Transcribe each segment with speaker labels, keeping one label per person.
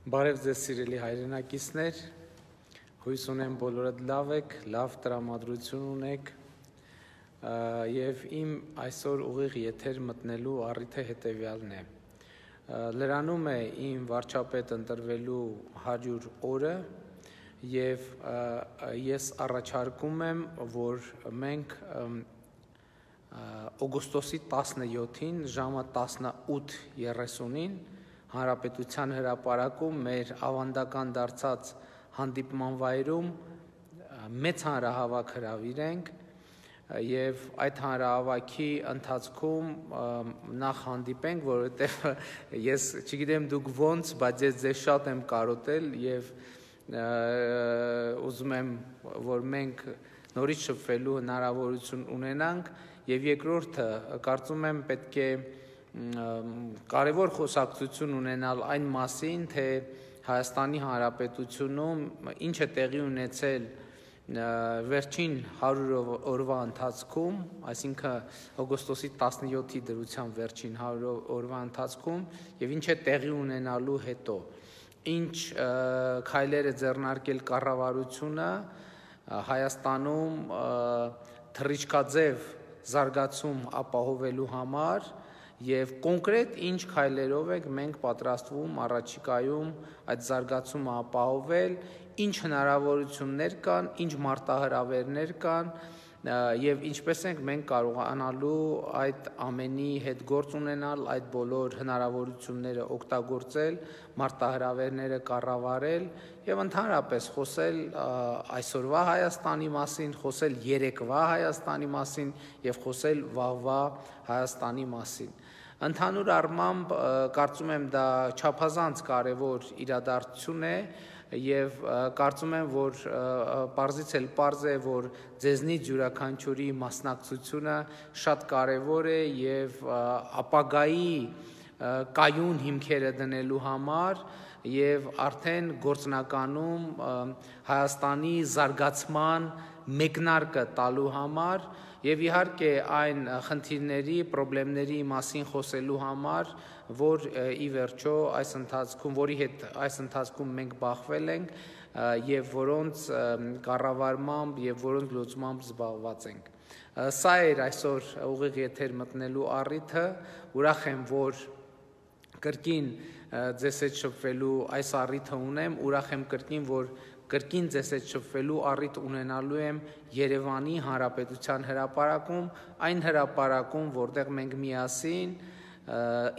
Speaker 1: Բարև ձեզ սիրելի հայրենակիցներ, հույս ունեմ բոլորդ լավ եք, լավ տրամադրություն ունեք և իմ այսօր ուղիղ եթեր մտնելու առիթը հետևյալն է։ Լրանում է իմ վարչապետ ընտրվելու 100 օրը և ես առաջարկում եմ, որ մենք օգոստոսի 17-ին ժամը 18:30-ին Հանրապետության հրապարակում մեր ավանդական դարձած հանդիպման վայրում մեծ հանրահավաք հրավիրենք և այդ հանրահավաքի ընթացքում նախ հանդիպենք, որովհետև ես չգիտեմ դուք ոնց, բայց ես ձեզ շատ եմ կարոտել և ուզում եմ, որ մենք նորից շփվելու հնարավորություն ունենանք և երկրորդը, կարծում եմ պետք է կարևոր խոսակցություն ունենալ այն մասին, թե Հայաստանի Հանրապետությունում ինչ է տեղի ունեցել վերջին 100 օրվա ընթացքում, այսինքն օգոստոսի 17-ի դրությամբ վերջին 100 օրվա ընթացքում և ինչ է տեղի ունենալու հետո, ինչ քայլեր է ձեռնարկել կառավարությունը Հայաստանում թռիչքաձև զարգացում ապահովելու համար և կոնկրետ ինչ քայլերով ենք մենք պատրաստվում առաջիկայում այդ զարգացումը ապահովել, ինչ հնարավորություններ կան, ինչ մարտահրավերներ կան և ինչպես ենք մենք կարողանալու այդ ամենի հետ գործ ունենալ, այդ բոլոր հնարավորությունները օգտագործել, մարտահրավերները կառավարել և ընդհանրապես խոսել այսօրվա Հայաստանի մասին, խոսել երեկվա Հայաստանի մասին և խոսել վաղվա Հայաստանի մասին։ Ընդհանուր առմամբ կարծում եմ դա չափազանց կարևոր իրադարձություն է և կարծում եմ, որ պարզից էլ պարզ է, որ ձեզնից յուրաքանչյուրի մասնակցությունը շատ կարևոր է և ապագայի կայուն հիմքերը դնելու համար և արդեն գործնականում Հայաստանի զարգացման մեկնարկը տալու համար և իհարկե այն խնդիրների, պրոբլեմների մասին խոսելու համար, որ ի վերջո որի հետ այս ընթացքում մենք բախվել ենք և որոնց կառավարմամբ և որոնց լուծմամբ զբաղված ենք։ Սա էր այսօր ուղիղ եթեր մտնելու առիթը, ուրախ եմ, որ կրկին ձեզ հետ շփվելու այս առիթը ունեմ, ուրախ եմ կրկին, որ կրկին ձեզ հետ շփվելու առիթ ունենալու եմ Երևանի Հանրապետության հրապարակում, այն հրապարակում, որտեղ մենք միասին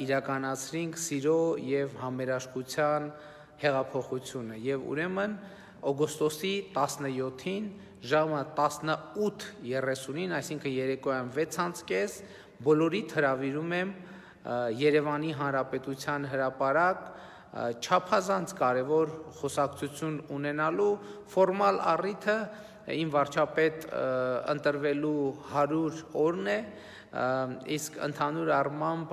Speaker 1: իրականացրինք սիրո և համերաշխության հեղափոխությունը և ուրեմն օգոստոսի 17-ին ժամը 18:30-ին, այսինքն երեկոյան 6:30, բոլորիդ հրավիրում եմ Երևանի Հանրապետության հրապարակ չափազանց կարևոր խոսակցություն ունենալու ֆորմալ առիթը իմ վարչապետ ընտրվելու 100 օրն է, իսկ ընդհանուր առմամբ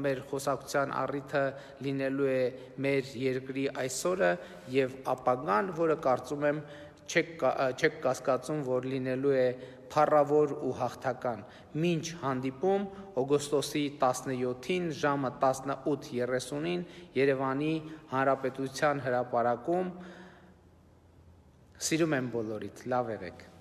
Speaker 1: մեր խոսակցության առիթը լինելու է մեր երկրի այսօրը և ապագան, որը կարծում եմ չեք կասկածում, որ լինելու է փառավոր ու հաղթական։ Մինչ հանդիպում օգոստոսի 17-ին ժամը 18:30-ին Երևանի Հանրապետության հրապարակում, սիրում եմ բոլորիդ, լավ եղեք։